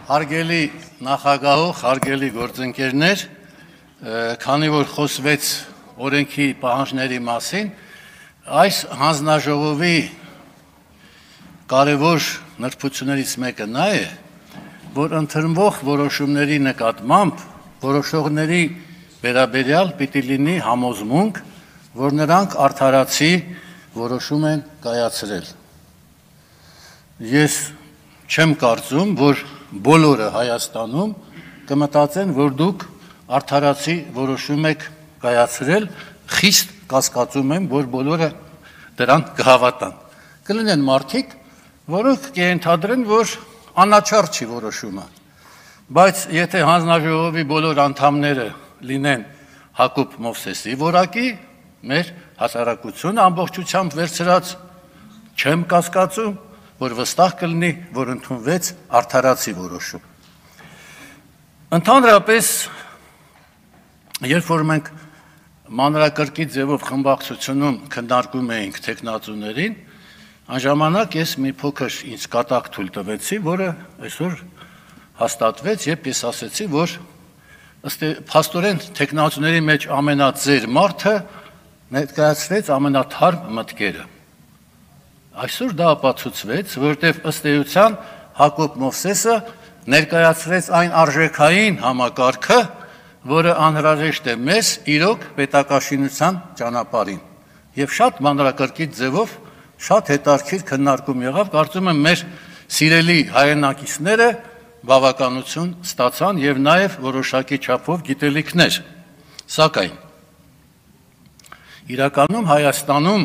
Հարգելի նախագահող, հարգելի գործընկերներ, քանի որ խոսվեց օրենքի պահանջների մասին, այս հանձնաժողովի կարևոր նրբություններից մեկը նա է, որ ընդունվող որոշումների նկատմամբ որոշողների վերաբերյալ պիտի լինի համոզմունք, որ նրանք արդարացի որոշում են կայացրել։ Ես չեմ կարծում, որ բոլորը Հայաստանում կմտածեն, որ դուք արդարացի որոշում եք կայացրել, խիստ կասկածում եմ, որ բոլորը դրան կհավատան։ Կլինեն մարդիկ, որոնք կենթադրեն, որ անաչառ չի որոշումը, բայց եթե հանձնաժողովի բոլոր անդամները լինեն Հակոբ Մովսեսի որակի, մեր հասարակությունը ամբողջությամբ վերցրած չեմ կասկածում, որ վստահ կլինի, որ ընդունվեց արդարացի որոշում։ Ընդհանրապես, երբ որ մենք մանրակրկիտ ձևով խմբակցությունում քննարկում էինք թեկնածուներին, անժամանակ ես մի փոքր ինձ կատակ թույլ տվեցի, որը այսօր հաստատվեց, երբ ես ասեցի, որ փաստորեն թեկնածուների մեջ ամենածեր մարդը ներկայացրեց ամենաթարմ մտքերը։ Այսօր դա ապացուցվեց, որտեղ ըստ էության Հակոբ Մովսեսը ներկայացրեց այն արժեքային համակարգը, որը անհրաժեշտ է մեզ իրոք պետակաշինության ճանապարհին։ Եվ շատ մանրակրկիտ ձևով շատ հետաքրքիր քննարկում եղավ, կարծում եմ մեր սիրելի հայրենակիցները բավականություն ստացան եւ նաեւ որոշակի չափով գիտելիքներ։ Սակայն իրականում Հայաստանում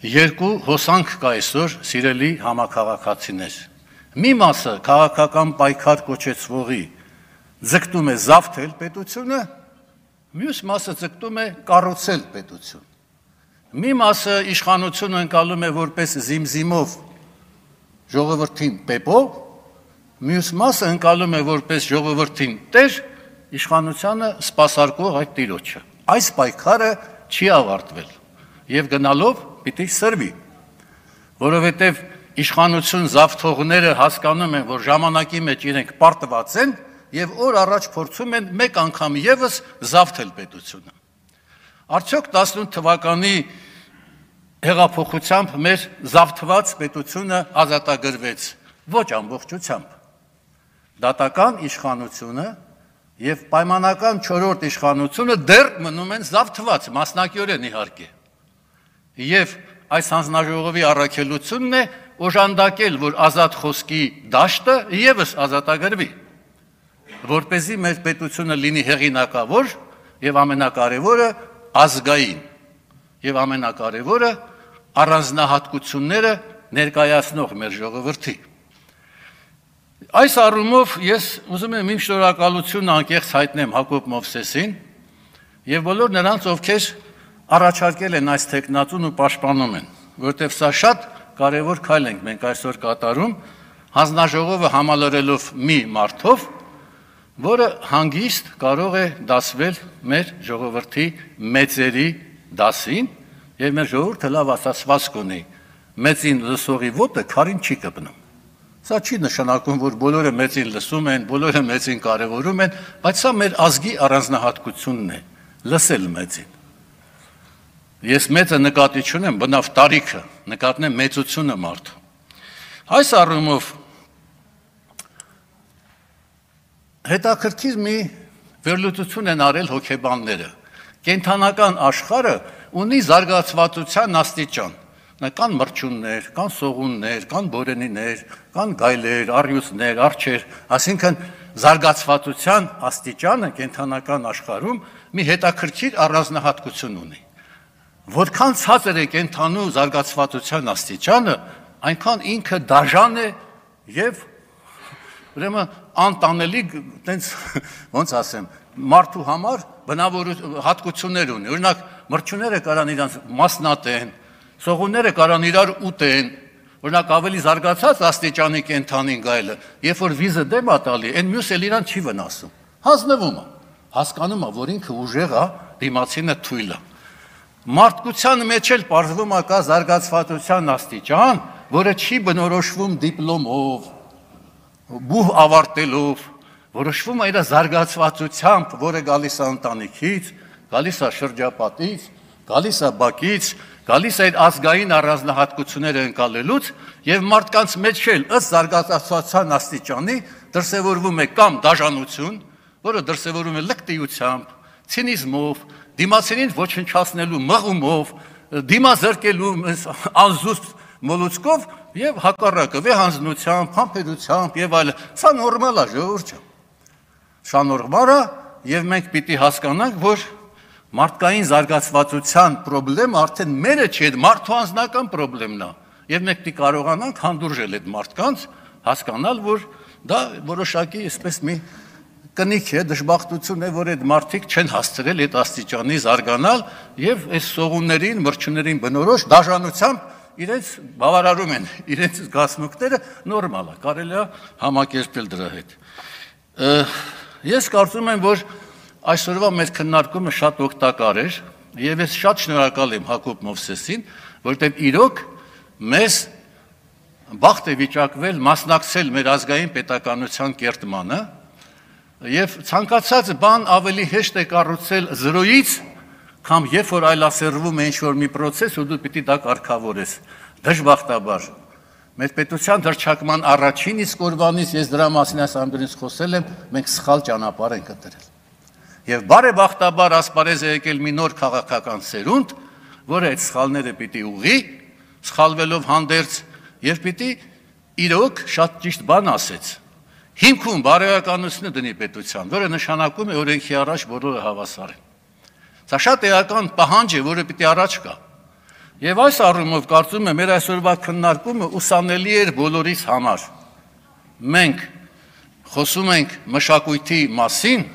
երկու հոսանք կա այսօր սիրելի համաքաղաքացիներ։ Մի մասը քաղաքական պայքար կոչեցվողի ձգտում է զավթել պետությունը, մյուս մասը ձգտում է կառուցել պետություն։ Մի մասը իշխանությունը ընկալում է որպես զիմզիմով ժողովրդին պեպով, մյուս մասը ընկալում է որպես ժողովրդին տեր, իշխանությանը սպասարկող այդ տիրոջը։ Այս պայքարը չի ավարտվել եւ գնալով պիտի սրվի, որովհետև իշխանություն զավթողները հասկանում են, որ ժամանակի մեջ իրենք պարտված են եւ օր առաջ փորձում են մեկ անգամ եւս զավթել պետությունը։ Արդյոք 18 թվականի հեղափոխությամբ մեր զավթված պետությունը ազատագրվեց ոչ ամբողջությամբ։ Դատական իշխանությունը եւ պայմանական 4-րդ իշխանությունը դեռ մնում են զավթված, մասնակիորեն իհարկե։ Եվ այս հանձնաժողովի առաքելությունն է օժանդակել, որ ազատ խոսքի դաշտը եւս ազատագրվի, որպեսզի մեր պետությունը լինի հեղինակավոր եւ ամենակարևորը ազգային եւ ամենակարևորը առանձնահատկությունները ներկայացնող մեր ժողովրդի։ Այս առումով ես ուզում եմ իմ շնորհակալությունը անկեղծ հայտնեմ Հակոբ Մովսեսին եւ բոլոր նրանց, ովքեր առաջարկել են այս թեկնածուն ու պաշտպանում են, որտեղ սա շատ կարևոր քայլ ենք մենք այսօր կատարում, հանձնաժողովը համալրելով մի մարդով, որը հանգիստ կարող է դասվել մեր ժողովրդի մեծերի դասին, եւ մեր ժողովուրդը լավ ասացվածք ունի, մեծին լսողի ոտը քարին չի կպնում։ Սա չի նշանակում, որ բոլորը մեծին լսում են, բոլորը մեծին կարևորում են, բայց սա մեր ազգի առանձնահատկությունն է, լսել մեծին։ Ես մեծը նկատի չունեմ, բնավ տարիքը, նկատնեմ մեծությունը մարդու։ Այս առումով հետաքրքիր մի վերլուծություն են արել հոգեբանները։ Կենդանական աշխարհը ունի զարգացվածության աստիճան։ Կան մրջյուններ, կան սողուններ, կան բորենիներ, կան գայլեր, առյուծներ, արջեր, այսինքն զարգացվածության աստիճանը կենդանական աշխարհում մի հետաքրքիր առանձնահատկություն ունի։ Որքան ցածր է կենդանու զարգացվածության աստիճանը, այնքան ինքը դաժան է եւ ուրեմն անտանելի, տենց ոնց ասեմ, մարդու համար բնավոր հատկություններ ունի։ Օրինակ, մրջյունները կարան իրանց մասնատեն, սողունները կարան իրար ուտեն, օրինակ ավելի զարգացած աստիճանի կենդանին գայլը, երբ որ վիզը դեմ է տալի, այն մյուս էլ իրան չի վնասում։ Հանձնվում է, հասկանում է, որ ինքը ուժեղ է, դիմացինը թույլ է։ Մարդկության մեջ էլ պարզվում է կա զարգացվածության աստիճան, որը չի բնորոշվում դիպլոմով, բուհ ավարտելով, որոշվում է իր զարգացվածությամբ, որը գալիս է ընտանիքից, գալիս է շրջապատից, գալիս է բակից, գալիս է ազգային առանձնահատկությունները ընկալելուց եւ մարդկանց մեջ էլ ըստ զարգացածության աստիճանի դրսևորվում է կամ դաժանություն, որը դրսևորվում է լկտիությամբ, ցինիզմով, դիմացինին ոչնչացնելու մղումով, դիմազրկելու անզուսպ մոլուցկով եւ հակառակը վեհանձնությամբ, համբերությամբ եւ այլն։ Սա նորմալ է, ժողովուրդ ջան։ Սա նորմալ է եւ մենք պիտի հասկանանք, որ մարդկային զարգացվածության խնդրեմը արդեն մերը չէ, մարդու անձնական խնդրեմն է։ Եվ մենք պիտի կարողանանք հանդուրժել այդ մարդկանց, հասկանալ, որ դա որոշակի այսպես մի կնիք է, դժբախտություն է, որ այդ մարդիկ չեն հասցրել այդ աստիճանի զարգանալ եւ այս սողուններին, մրջուներին բնորոշ դաժանությամբ իրենց բավարարում են իրենց զգացմունքները, նորմալ է, կարելի է համակերպել դրա հետ։ Ես կարծում եմ, որ այսօրվա մեր քննարկումը շատ օգտակար էր եւ ես շատ շնորհակալ եմ Հակոբ Մովսեսին, որտեղ իրոք մեզ բախտ է վիճակվել մասնակցել մեր ազգային պետականության կերտմանը եւ ցանկացած բան ավելի հեշտ է կառուցել զրոյից, քան երբ որ այլասերվում է ինչ-որ մի process ու դու պիտի դա կարգավորես։ Դժբախտաբար մեր պետության հռչակման առաջին իսկ օրվանից ես դրա մասին այս ամբերից խոսել եմ, մենք սխալ ճանապարհ ենք ընտրել։ Եվ բարեբախտաբար ասպարեզ է եկել մի նոր քաղաքական սերունդ, որը այդ սխալները պիտի ուղղի, սխալվելով հանդերձ եւ պիտի իրոք շատ ճիշտ բան ասեց։ Հիմքում բարոյականությունը դնի պետության, որը նշանակում է օրենքի առաջ բոլորը հավասար են։ Սա շատ էական պահանջ է, որը պիտի առաջ գա։ Եվ այս առումով կարծում եմ մեր այսօրվա քննարկումը ուսանելի էր բոլորիս համար։ Մենք խոսում ենք մշակույթի մասին,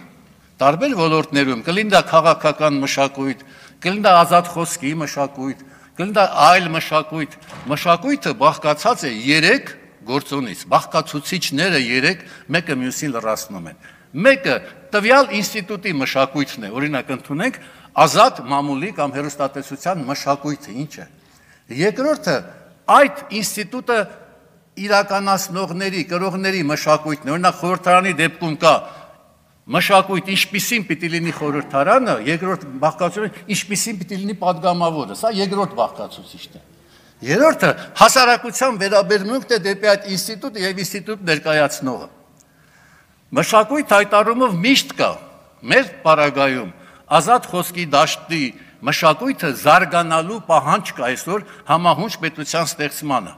տարբեր ոլորտներում, կլինի դա քաղաքական մշակույթ, կլինի դա ազատ խոսքի մշակույթ, կլինի դա այլ մշակույթ։ Մշակույթը բաղկացած է 3 գործոնից, բաղկացուցիչները 3 մեկը մյուսին լրացնում են։ Մեկը տվյալ ինստիտուտի մշակույթն է, օրինակ ընդունենք ազատ մամուլի կամ հեռուստատեսության մշակույթը ինչ է։ Երկրորդը այդ ինստիտուտը իրականացնողների, կրողների մշակույթն է, օրինակ խորհրդարանի դեպքում կա մշակույթ, ինչպիսին պիտի լինի խորհրդարանը, երկրորդ բաղկացուցիչը ինչպիսին պիտի լինի падգամավորը, սա երկրորդ բաղկացուցիչն է։ Երրորդը հասարակության վերաբերմունքն է դեպի այդ ինստիտուտը եւ ինստիտուտ ներկայացնողը։ Մշակույթ հայտարարումով միշտ կա մեր պարագայում ազատ խոսքի դաշտի մշակույթը զարգանալու պահանջ կա այսօր համահունչ պետության ստեղծմանը։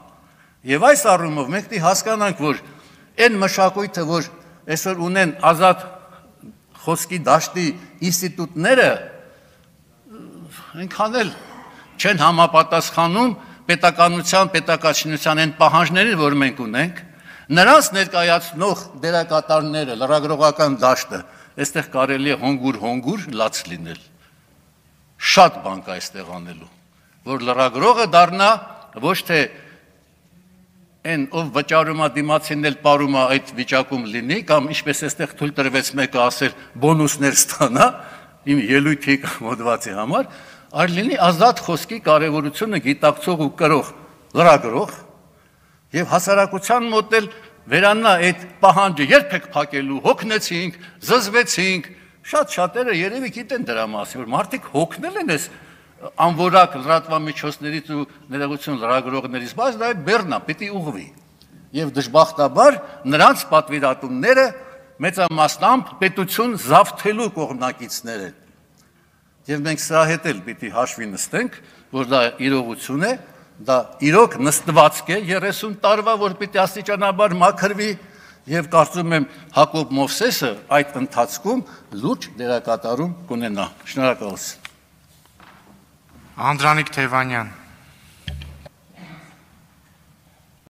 Եվ այս առումով մենք պետք է հասկանանք, որ այն մշակույթը, որ այսօր ունեն ազատ խոսքի դաշտի ինստիտուտները, այնքան էլ չեն համապատասխանում պետականության, պետակացնության այն պահանջներին, որ մենք ունենք, նրանց ներկայացնող դերակատարները, լրագրողական դաշտը, այստեղ կարելի է հոնգուր լաց լինել։ Շատ բան կա այստեղ անելու, որ լրագրողը դառնա ոչ թե այն ով վճարում է դիմացին էլ ապարում է այդ վիճակում լինի, կամ ինչպես այստեղ թույլ տրվեց մեկը ասել բոնուսներ ստանա իմ ելույթի կամ հոդվածի համար, այլ լինի ազատ խոսքի կարևորությունը գիտակցող ու կրող լրագրող եւ հասարակության մոտ էլ վերանա այդ պահանջը երբեք փակելու, հոգնեցինք, զզվեցինք, շատերը երևի գիտեն դրա մասին, որ մարդիկ հոգնել են այս անորակ լրատվամիջոցներից ու ներողություն լրագրողներից, բայց դա բեռնա, պիտի ուղղվի։ Եվ դժբախտաբար նրանց պատվիրատուները մեծամասնամբ պետություն զավթելու կողմնակիցներ են։ Եվ մենք սրա հետ էլ պիտի հաշվի նստենք, որ դա իրողություն է, դա իրոք նստվածք է 30 տարվա, որ պիտի աստիճանաբար մաքրվի, եւ կարծում եմ Հակոբ Մովսեսը այդ ընթացքում լուրջ դերակատարում կունենա։ Շնորհակալություն։ Անդրանիկ Թևանյան